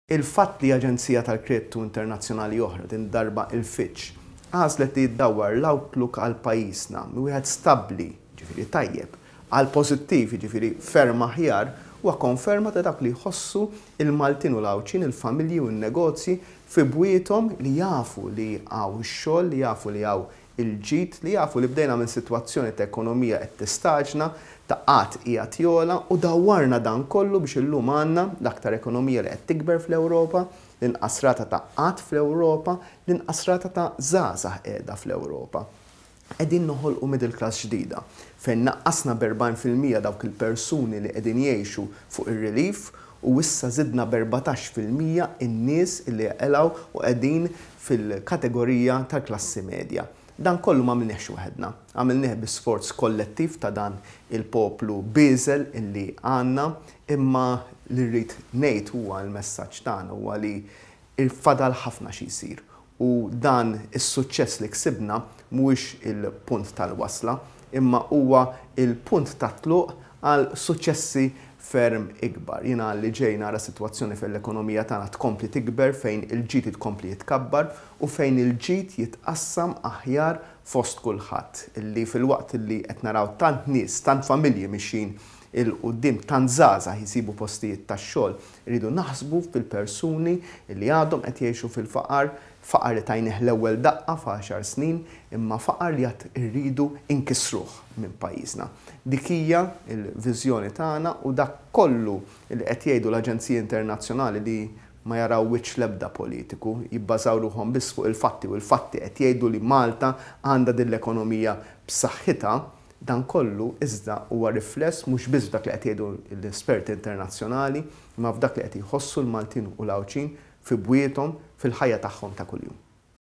Il-fatt li aġenzija tal-kredtu internazzjonali oħra, din id-darba il-Fitch, għażlet li ddawwar l-outlook għal pajjiżna minn wieħed stabbli, jiġifieri tajjeb, għal pożittiv, jiġifieri ferm aħjar, huwa konferma ta' dak li jħossu l-Maltin u l-Għawdxin, il-familji u n-negozji fi bwiethom li jafu li hawn ix-xogħol, li jafu li hawn il-ġid, li jafu li bdejna minn sitwazzjoni ta' ekonomija qed tistaġna, ta' qgħad qiegħed jogħla u dawwarna dan kollu biex illum għandna l-aktar ekonomija li qed tikber fl-Ewropa, l-inqas rata ta' qgħad fl-Ewropa, l-inqas rata ta' żgħażagħ qiegħda fl-Ewropa. Qegħdin noħolqu middle class ġdida, fejn naqqasna b'40% dawk il-persuni li qegħdin jgħixu fuq ir-relief u issa żidna b'14% in-nies li jaqilgħu u qegħdin fil-kategorija tal-klassi medja. Dan kollu m'għamilniehx waħedna. Għamilnieh bi sforz kollettiv ta' dan il-poplu bieżel illi għandna, imma li rrid ngħid huwa l-messaġġ tagħna huwa li fadal ħafna xi jsir u dan is-suċċess li ksibna mhuwiex il-punt tal-wasla, imma huwa l-punt tat-tluq għal suċċessi ferm ikbar. Jiena li ġej nara sitwazzjoni fejn l-ekonomija tagħna tkompli tikber, fejn il-ġid jitkompli jitkabbar u fejn il-ġid jitqassam aħjar fost kulħadd. Illi filwaqt li qed naraw tant nies, tant familji mixjin 'il quddiem, tant żgħażagħ jsibu postijiet tax-xogħol, irridu naħsbu fil-persuni li għadhom qed jgħixu fil-faqar, faqar li tajnih l-ewwel daqqa f'għaxar snin, imma faqar li għad irridu nkissruh minn pajjiżna. Dik hija l-viżjoni tagħna u dak kollu li qed jgħidu l-aġenziji internazzjonali li ma jaraw wiċċ l-ebda politiku, jibbażaw ruħhom biss fuq il-fatti u l-fatti qed jgħidu li Malta għandha din l-ekonomija b'saħħitha, Dan kollu, iżda, huwa rifless mhux biss f'dak li qed jgħidu l-esperti internazzjonali, imma f'dak li qed jħossu l-Maltin u l-Għawdxin fi bwiethom, fil-ħajja tagħhom ta' kuljum.